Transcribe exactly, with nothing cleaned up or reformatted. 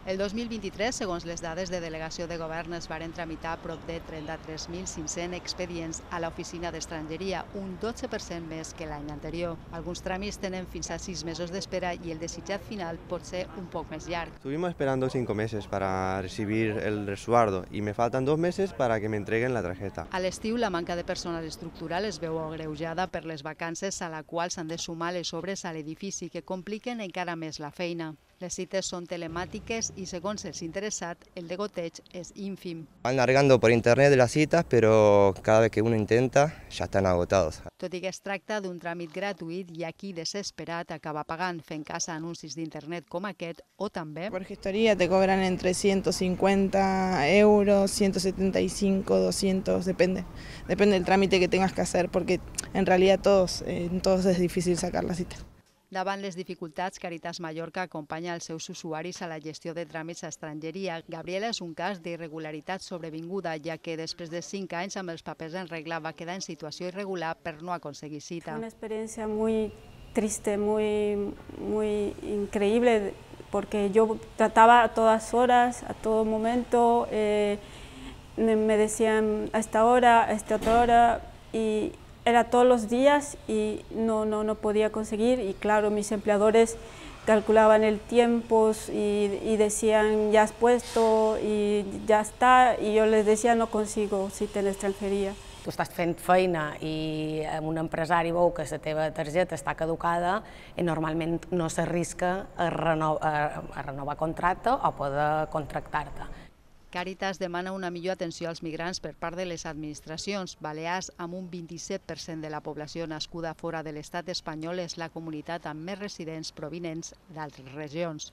El dos mil vint-i-tres, segons les dades de delegació de govern, es varen tramitar prop de trenta-tres mil cinc-cents expedients a l'oficina d'estrangeria, un dotze per cent més que l'any anterior. Alguns tràmits tenen fins a sis mesos d'espera i el desitjat final pot ser un poc més llarg. Estuvimos esperando cinco meses para recibir el resguardo y me faltan dos meses para que me entreguen la tarjeta. A l'estiu, la manca de personal estructural es veu agreujada per les vacances a la qual s'han de sumar les obres a l'edifici que compliquen encara més la feina. Les cites són telemàtiques i, segons els interessats, el degoteig és ínfim. Van largando por internet las citas, pero cada vez que uno intenta ya están agotados. Tot i que es tracta d'un tràmit gratuït, hi ha qui desesperat acaba pagant fent cas a anuncis d'internet com aquest o també... Por gestoría te cobran entre ciento cincuenta euros, ciento setenta y cinco, doscientos, depende. Depende del trámite que tengas que hacer, porque en realidad todos, eh, en todos es difícil sacar la cita. Davant les dificultats, Càritas Mallorca acompanya els seus usuaris a la gestió de tràmits a estrangeria. Gabriela és un cas d'irregularitat sobrevinguda, ja que després de cinc anys amb els papers en regla va quedar en situació irregular per no aconseguir cita. Una experiencia muy triste, muy, muy increíble, porque yo trataba a todas horas, a todo momento, eh, me decían a esta hora, a esta otra hora, y era todos los días y no, no, no podía conseguir, y claro, mis empleadores calculaban el tiempo y, y decían ya has puesto y ya está, y yo les decía no consigo cita en extranjería. Tu estàs fent feina i un empresari veu que la teva targeta està caducada i normalment no s'arrisca a, reno a, a renovar contracte o poder contractar-te. Càritas demana una millor atenció als migrants per part de les administracions. Balears, amb un vint-i-set per cent de la població nascuda fora de l'estat espanyol, és la comunitat amb més residents provinents d'altres regions.